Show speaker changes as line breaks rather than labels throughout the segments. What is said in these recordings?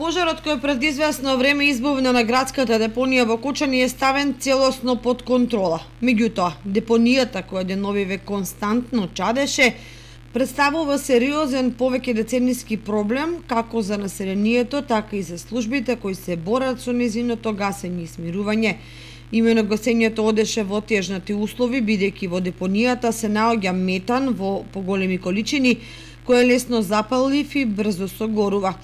Пожарот кој пред известно време избувна на градската депонија во Кочани е ставен целосно под контрола. Меѓутоа, депонијата која деновиве константно чадеше, представува сериозен повеќе децениски проблем како за населението, така и за службите кои се борат со незиното гасење и смирување. Имено гасењето одеше во тежнати услови, бидејќи во депонијата се наоѓа метан во поголеми количини, кој е лесно запалив и брзо согорува.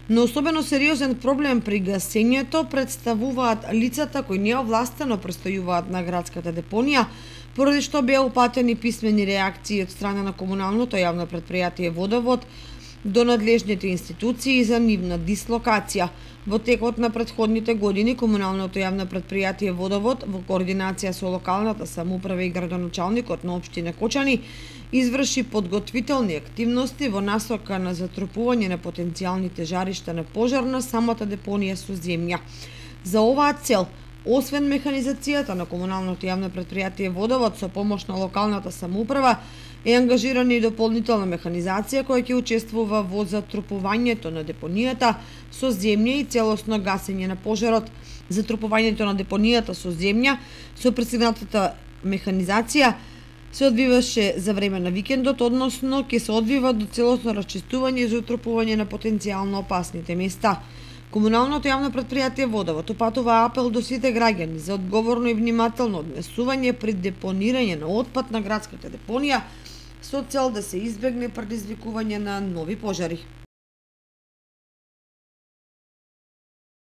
Но особено сериозен проблем при гасењето представуваат лицата кои неовластено престојуваат на градската депонија, поради што беа упатени писмени реакции од страна на комуналното јавно предпријатие Водовод до надлежните институции за нивна дислокација. Во текот на претходните години комуналното јавно предпријатие Водовод во координација со локалната самоуправа и градоначалникот на општина Кочани изврши подготвителни активности во насока на затрупување на потенцијалните жаришта на пожар на самата депонија со земја. За оваа цел, освен механизацијата на комуналното јавно предпријатие Водовод со помош на локалната самоуправа, е ангажирана и дополнителна механизација која ќе учествува во затрупувањето на депонијата со земја и целосно гасење на пожарот. Затрупувањето на депонијата со земја со пристигнатата механизација се одвиваше за време на викендот, односно ќе се одвива до целосно расчистување и затрупување на потенцијално опасните места. Комуналното јавно предпријатие Водовод упатува апел до сите граѓани за одговорно и внимателно однесување при депонирање на отпад на градската депонија со цел да се избегне предизвикување на нови пожари.